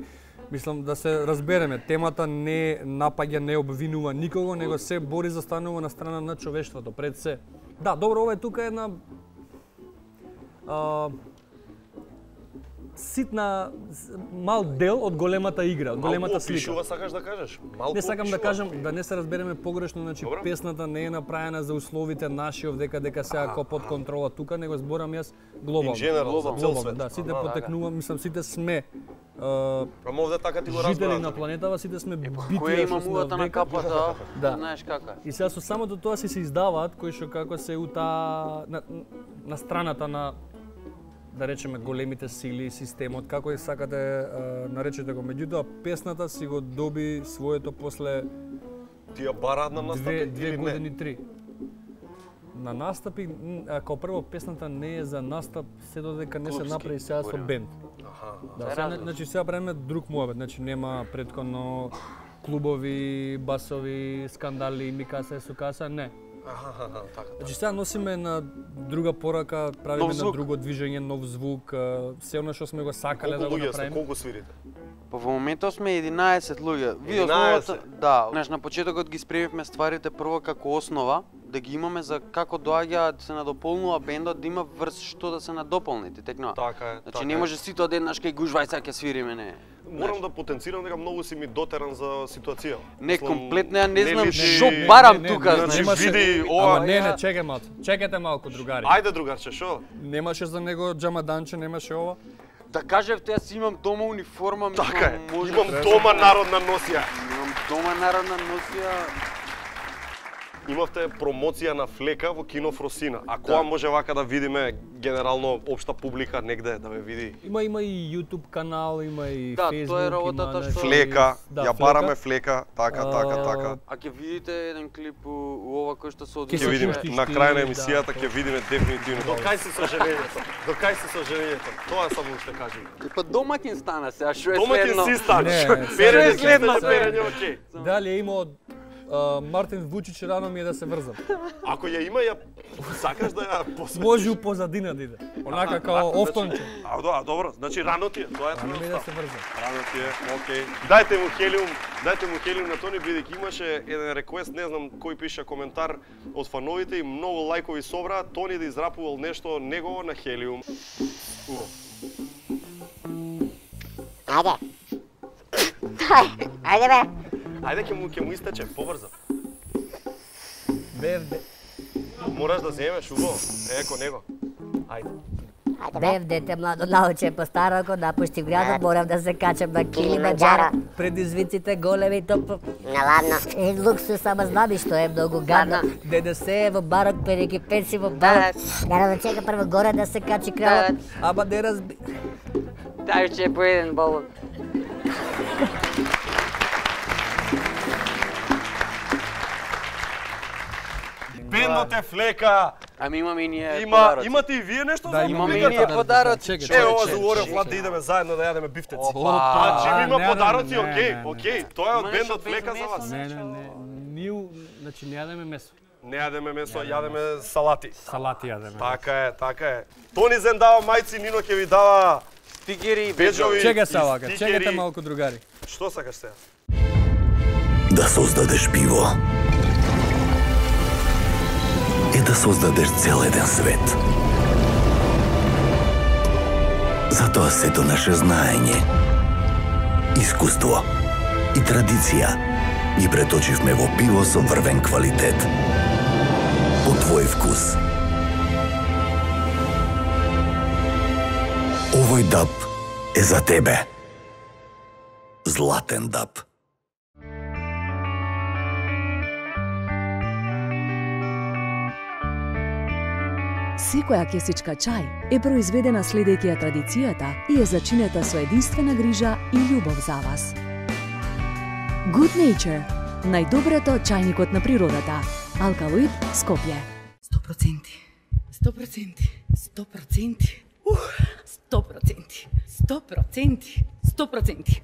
Мислам да се разбереме, темата не напаѓа, не обвинува никого, него се бори за станува на страна на човештвото пред се. Да, добро, ова е тука една а, ситна мал дел од големата игра, од големата слика. Опишува, сакаш да кажеш? Малку Не сакам да опишува. кажам, да не се разбереме погрешно, значи Добро. песната не е направена за условите наши овдека дека се ако под контрола тука, него зборам јас глобално. In general, за цел свет. Да, сите Ага, потекнува, мислам сите сме а, Ама овде така ти го жители разбирам. на планетава, сите сме битија Која што има сме мувата на овдека. капата, Да. знаеш кака. И сега со самото тоа си се издаваат кои што како се ута на, на страната на да речеме големите сили, системот, како и сакате а, наречете го. Меѓутоа песната си го доби своето после Тие бараат на две, настапи две или не? години, три. На настапи, м, а, као прво песната не е за настап, се додека не се Клупски, направи сега со зборим. бенд. Аха. Да, Е сега, различно. значи сега правиме друг муабет, значи нема претходно клубови, басови, скандали, ми каса е со каса, не. Аха, аха, така. Значи сега носиме на друга порака, правиме Нов на звук. друго движење, нов звук, а, се она што сме го сакале да Колку го луѓе сте, направиме. колку свирите? Па во моментот сме единаесет луѓе. Ви единаесет? основата, да, знаеш на почетокот ги спремивме стварите прво како основа, да ги имаме за како доаѓа да се надополнува бендот, да има врз што да се надополни, ти текнува. Така е, Значи така не е. може сите одеднаш кај гужвај сега ќе свириме, не. Морам да потенцирам дека многу си ми дотеран за ситуација. Не, Мислам, комплетно ја не знам личи- што барам Не, не, тука, не, Значи немаше- види ова. Ама не, не, чекај малку. Чекајте малку, другари. Ајде другарче, шо? Немаше за него џамаданче, немаше ова. Да кажевте, јас имам дома униформа, мислам, Така е. може... Имам дома народна носија. Имам дома народна носија. Имавте промоција на Флека во кино Фросина. А која Да. може вака да видиме генерално општа публика негде да ве види? Има има и YouTube канал, има и Да, Facebook, тоа е работата има, што- Флека, Да, ја Флека. бараме Флека, така, така, А, така. А ќе видите еден клип у, у ова кој што се Ќе Ќе се одвива. видиме пуштиш на ти, крај на да, емисијата, тоа. ќе видиме дефинитивно. До кај си со женењето? До кај си со женењето? Тоа само уште кажи. Па домаќин стана сега, што е Домаќин следно? си стан. Не, Перење сега- следно сега- перење, окей. Дали е имao а, Мартин Вучич, рано ми е да се врзам. Ако ја има, ја сакаш да ја посветиш? Може у позадина да иде. Онака као офтонче. А, да, добро, значи рано ти е, тоа е Рано ми е да твојот се став. врзам. Рано ти е, окей. Дајте му хелиум, дајте му хелиум на Тони, бидејќи имаше еден реквест, не знам кој пиша коментар од фановите и многу лајкови собра, Тони да израпувал нешто негово на хелиум. Убаво. Ајде. Ајде бе. Ајде ќе му ќе му истече, побрзо. Бевде. Мораш да земеш убаво. Еко него. Ајде. Бев дете младо науче по староко, напуштив градот, морам да се качам на Килимаджаро. Предизвиците големи топ. Наладно. Е, луксус, ама знам и што е многу гадно. ДДС е во барок, переки пенси во барок. Наравно чека прво горе да се качи кралот. Ама не разби... Дај ќе по еден болон. Бендот е Флека. Ами имаме и ние Има, подароци. имате и вие нешто Да, за имаме и публиката? ние подароци. Чекай, Ево за Уорев Влад да идеме заедно да јадеме бифтеци. Опа. Значи има Не, подароци, не, не, окей, не, не. окей. Тоа е од Има бендот нешто без Флека за месо, вас. Не, не, не. Ние, значи не јадеме месо. Не јадеме месо, јадеме салати. Салати јадеме. Така е, така е. Тони Зен дава мајци, Нино ќе ви дава стикери, беџови. Чекај и се вака, стикери. чекајте малку другари. Што сакаш сега? Да создадеш пиво е да создадеш цел еден свет. Затоа сето наше знаење, искуство и традиција ги преточивме во пиво со врвен квалитет. По твој вкус. Овој даб е за тебе. Златен даб. Секоја кесичка чај е произведена следејќи ја традицијата и е зачинета со единствена грижа и љубов за вас. Good Nature, најдоброто чајникот на природата. Алкалоид, Скопје. сто проценти, сто проценти, сто проценти, сто проценти, сто проценти, сто проценти.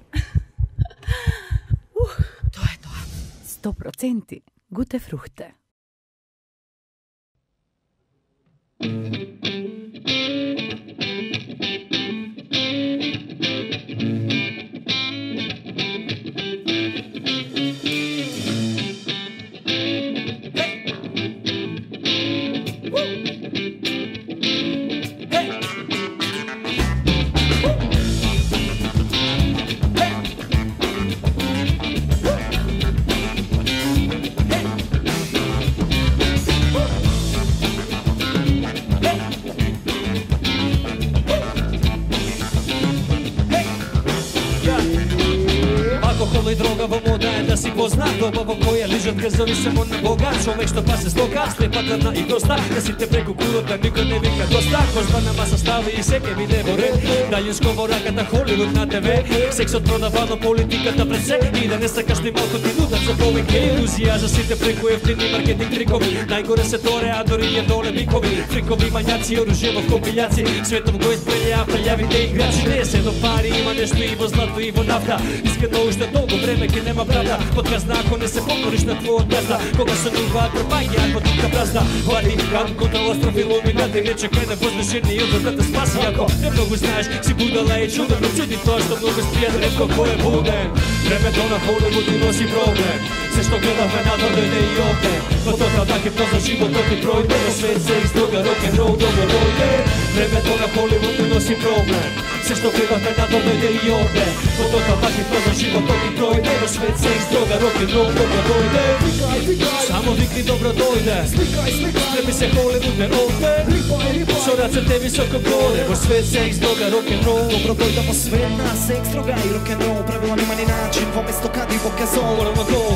Тоа е тоа. сто проценти гуте фрухте. Алкохол и дрога во мода е да си познат. Доба во која лижат газови само на Бога. Човек што пасе стока, слепа гладна и проста. Да сите преку кулата, никој не вика доста. Козба на маса стави и секе биде во ред. Дајинско во раката, Холивуд на Те Ве. Сексот продавано, политиката пред се. И да не сакаш ни малко ти нудат за повеќе илузија за сите преку ефтини маркетинг трикови. Најгоре се торе, а дори е доле бикови. Фрикови мањаци, оружје во компилјаци. Светов го испрелја, прелјавите играчи. Не се до пари, има нешто и во злато и во нафта. Искрено уште долго време ке нема правда. Подказна ако не се покориш на твојот газда. Кога се нуваат трпаѓи, ако тука празда. Влади, кан, контролостроф и луминати. Не чекај на возвишени од да те спаси. Ако не многу знаеш, си будала и чуден. Но чуди тоа што многу спијат ретко кој е буден. Времето на Холивуд ти носи проблем. Се што гледавме надвор дојде и овде. Во тотална хипноза животот ти пројде. Во свет се издрога рок-н-рол добро дојде. Времето на Холивуд ти носи проблем. Се што гледавме надвор дојде и овде. Во тотална хипноза животот ти пројде. Во свет се издрога рок-н-рол добро дојде. Само викни добро дојде. Спреми се Холивуд не овде. Со рацете високо горе. Во свет се издрога рок-н-рол. Добро дојде во свет на секс, дрога и рок-н-рол. Правила нема ни начин, во место кади во казол.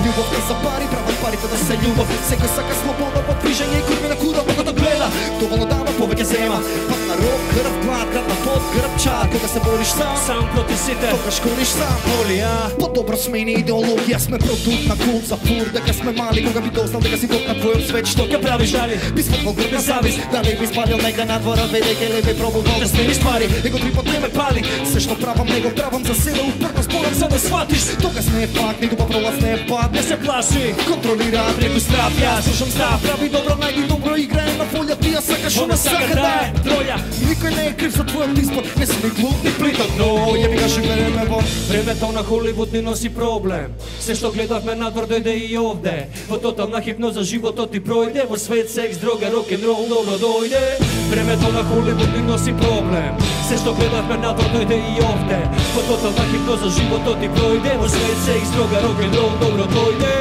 Љубов не за пари, прават парите да се љубов. Секој сака слобода во движење и курми на куда мога да гледа. Доволно дава, повеќе зема. Пат на рок, крв, глад, град на пот, грб, чар. Кога се бориш сам, сам против сите, тогаш кориш сам. Олија, по-добро смени идеологија, сме продукт на култ за фур. Дека сме мали, кога би дознал дека си бог на твојот свет. Што ќе правиш дали? Би сватвал грб на завист, дали би спалил нега на двора, ведеќе ли би пробувал да смениш пари. Него три пат не ме пали, се што правам него правам за себе, упорно спорам за да сватиш. Тогаш не е факт, ни дуба пролаз не е пат. Не се плаши, контролира преку страв. Јас слушам став, прави добро, најди добро, играе на полја. Ти ја сакаш, она сака да е троја. Никој не е крив за твојот избор, не си ни глуп, ни плиток, но ја ми каже време во. Времето на Холивуд ни носи проблем. Се што гледавме надвор дојде и овде. Во тотална хипноза животот ти пројде. Во свет секс, дрога, рок-н-рол добро дојде. Времето на Холивуд ни носи проблем. Се што гледавме надвор дојде и овде. Во тотална хипноза животот ти пројде. Во свет секс, дрога, рок-н-рол добро дојде.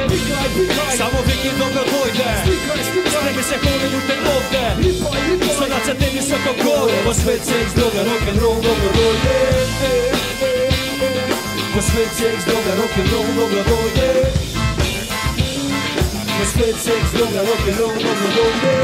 Само вики добро дојде. Спреми се Холивуд е овде. Со рацете високо горе. Во свет секс, дрога, рок-н-рол добро дојде. Во свет секс, дрога, рок-н-рол добро дојде. Во свет секс, дрога, рок-н-рол добро дојде.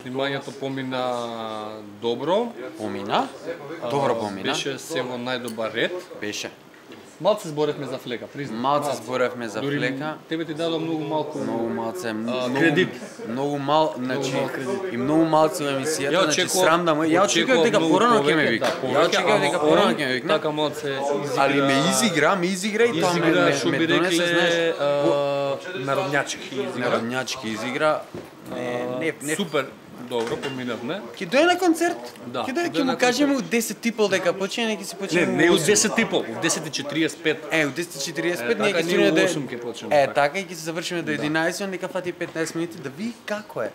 Снимањето помина добро. Помина? Добро помина. Беше се во најдобар ред. Беше. Малце зборевме за флека, признам. Малце зборевме за Дури флека. Тебе ти дадо многу малку. Многу малце, многу кредит. Многу мал, значи мал кредит. и многу малце во емисијата, Ја значи очекував- срам да му. Ја очекував дека многу порано ќе ме повеќе, вика. да, Ја повеќе, очекував ама дека он порано ќе ме викне. Така малце изигра. Али ме изигра, ме изигра и тоа ме Изигра, ме- што ме би донесе, рекле, знаеш, а, народњачки изигра. Народњачки изигра. Не, не, не. Супер, добро, поминавме. Ќе дојде на концерт. Да, Ќе дојде, ќе ќе му на кажеме у десет типол дека почне, ќе се почне. Не, не у десет и пол, у десет и четириесет и пет. Е, у десет и четириесет и пет Е, ние така ќе ние стигнеме у до осум ќе почнеме, Е, така. така и ќе се завршиме до Да. единаесет, нека фати петнаесет минути да ви како е.